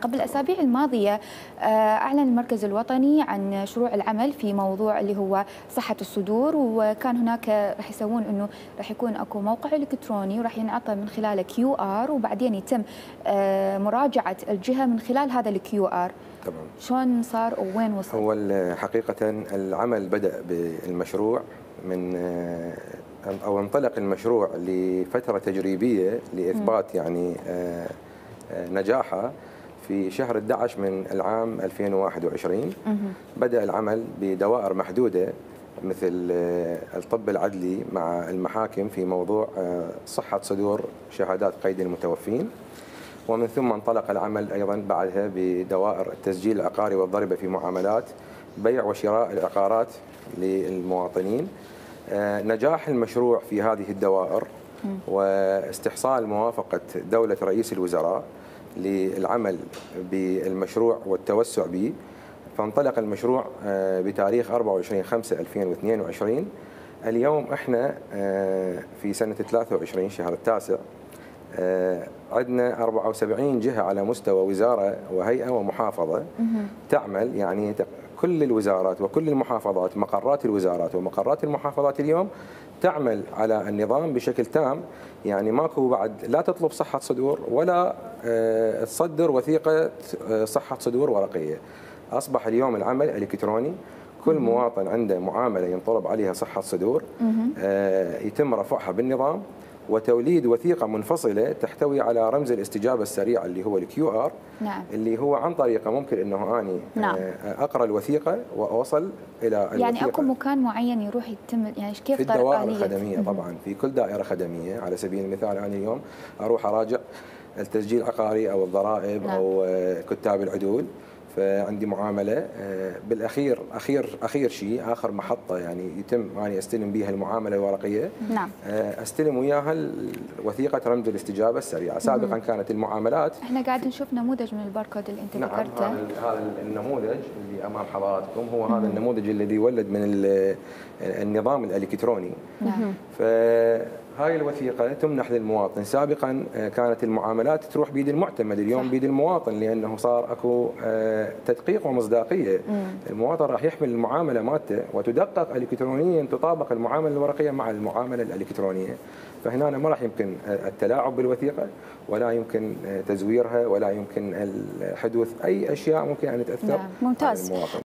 قبل الأسابيع الماضية أعلن المركز الوطني عن شروع العمل في موضوع اللي هو صحة الصدور، وكان هناك راح يسوون أنه راح يكون أكو موقع إلكتروني وراح ينعطى من خلاله QR، وبعدين يتم مراجعة الجهة من خلال هذا الQR. تمام. شلون صار ووين وصل؟ هو حقيقة العمل بدأ بالمشروع من أو انطلق المشروع لفترة تجريبية لإثبات يعني نجاحه في شهر 11 من العام 2021. بدأ العمل بدوائر محدودة مثل الطب العدلي مع المحاكم في موضوع صحة صدور شهادات قيد المتوفين، ومن ثم انطلق العمل أيضا بعدها بدوائر التسجيل العقاري والضريبة في معاملات بيع وشراء العقارات للمواطنين. نجاح المشروع في هذه الدوائر واستحصال موافقة دولة رئيس الوزراء للعمل بالمشروع والتوسع به، فانطلق المشروع بتاريخ 24/5/2022. اليوم احنا في سنة 23 شهر التاسع، عندنا 74 جهة على مستوى وزارة وهيئة ومحافظة تعمل، يعني كل الوزارات وكل المحافظات، مقرات الوزارات ومقرات المحافظات اليوم تعمل على النظام بشكل تام. يعني ماكو بعد لا تطلب صحة صدور ولا تصدر وثيقة صحة صدور ورقية. أصبح اليوم العمل الإلكتروني، كل مواطن عنده معاملة ينطلب عليها صحة صدور يتم رفعها بالنظام وتوليد وثيقة منفصلة تحتوي على رمز الاستجابة السريعة اللي هو الQR. نعم. اللي هو عن طريقه ممكن انه اني اقرا الوثيقة واوصل الى يعني الوثيقة. اكو مكان معين يروح يتم، يعني كيف في الدوائر الخدمية طبعا، في كل دائرة خدمية. على سبيل المثال انا اليوم اروح اراجع التسجيل العقاري او الضرائب او كتاب العدول، فعندي معاملة بالأخير أخير شيء آخر محطة يعني يتم أني أستلم بها المعاملة الورقية. نعم. أستلم وياها وثيقة رمز الاستجابة السريعة. سابقا كانت المعاملات، احنا قاعد نشوف نموذج من الباركود اللي أنت ذكرته. نعم، هذا النموذج اللي أمام حضراتكم هو هذا النموذج الذي ولد من النظام الإلكتروني. نعم. فهاي الوثيقة تمنح للمواطن. سابقا كانت المعاملات تروح بيد المعتمد، اليوم بيد المواطن، لأنه صار أكو تدقيق ومصداقية. المواطن راح يحمل المعاملة مالته وتدقق إلكترونيا، تطابق المعاملة الورقية مع المعاملة الإلكترونية. فهنا ما راح يمكن التلاعب بالوثيقة، ولا يمكن تزويرها، ولا يمكن حدوث أي أشياء ممكن أن تأثر على المواطن.